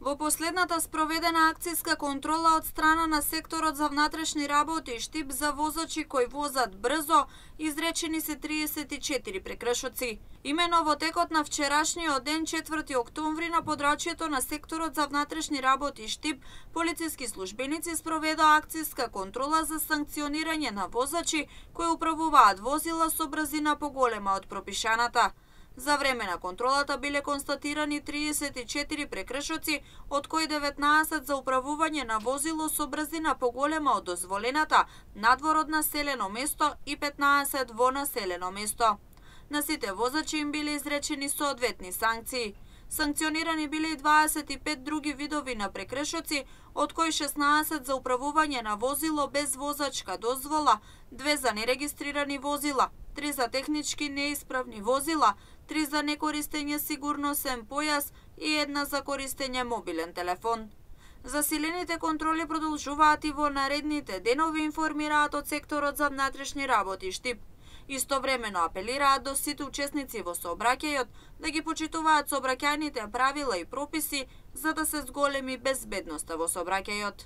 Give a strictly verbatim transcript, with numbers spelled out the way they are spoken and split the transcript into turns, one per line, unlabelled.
Во последната спроведена акцијска контрола од страна на секторот за внатрешни работи и штип за возачи кои возат брзо, изречени се триесет и четири прекршоци. Имено во текот на вчерашниот ден, четврти октомври, на подрачјето на секторот за внатрешни работи и штип, полициски службеници спроведоа акцијска контрола за санкционирање на возачи кои управуваат возила со брзина поголема од пропишаната. За време на контролата биле констатирани триесет и четири прекршоци, од кои деветнаесет за управување на возило со брзина поголема од дозволената надвор од населено место и петнаесет во населено место. На сите возачи им биле изречени соодветни санкции. Санкционирани биле и дваесет и пет други видови на прекршоци, од кои шеснаесет за управување на возило без возачка дозвола, две за нерегистрирани возила, три за технички неисправни возила, три за некористење сигурносен појас и една за користење мобилен телефон. Засилените контроли продолжуваат и во наредните денови, информираат од секторот за внатрешни работи и штип. Истовремено апелираат до сите учесници во сообраќајот да ги почитуваат сообраќајните правила и прописи за да се зголеми безбедноста во сообраќајот.